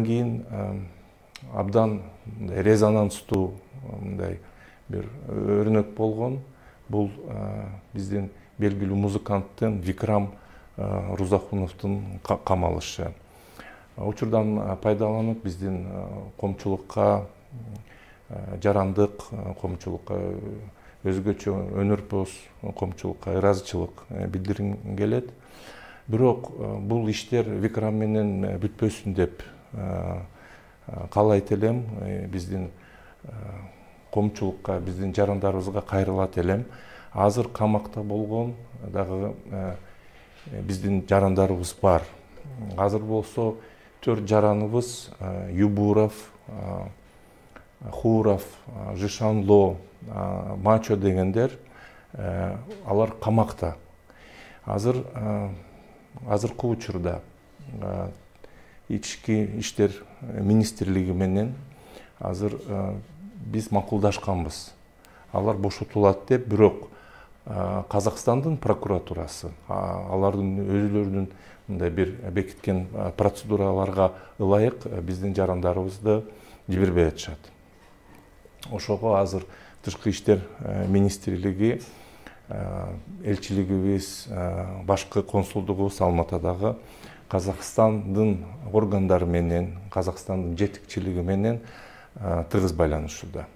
кийин абдан резонанстуу мындай бир өрнөк болгон бул биздин белгилүү музыканттын Викрам Рузахуновдун камалышы. Учурдан пайдаланып биздин коомчулукка, жарандык коомчулукка, өзгөчө өнөрпөз коомчулукка ыраазычылык билдиргим келет. Бирок бул иштер Викрам менен бүтпөсүн деп каалайт элем. Биздин коомчулукка, биздин жарандарыбызга кайрылат элем. Азыр камакта болгон дагы биздин жарандарыбыз бар. Азыр болсо 4 жараныбыз Юбуров, Хуров, Жишанло, Мачо дегендер алар камакта. Азыркы учурда ички иштер министрлиги менен азыр биз макулдашканбыз. Алар бошотулат деп, бирок Казакстандын прокуратурасы алардын өзүлөрүнүн мындай бир бекиткен процедураларга ылайык биздин жарандарыбызды жибербей атышат. Ошого азыр Тышкы иштер министрлиги, элчилигибиз, башкы консулдугубуз Алматадагы Казакстандын органдары менен, Казакстандын жетекчилиги менен тыгыз байланышууда.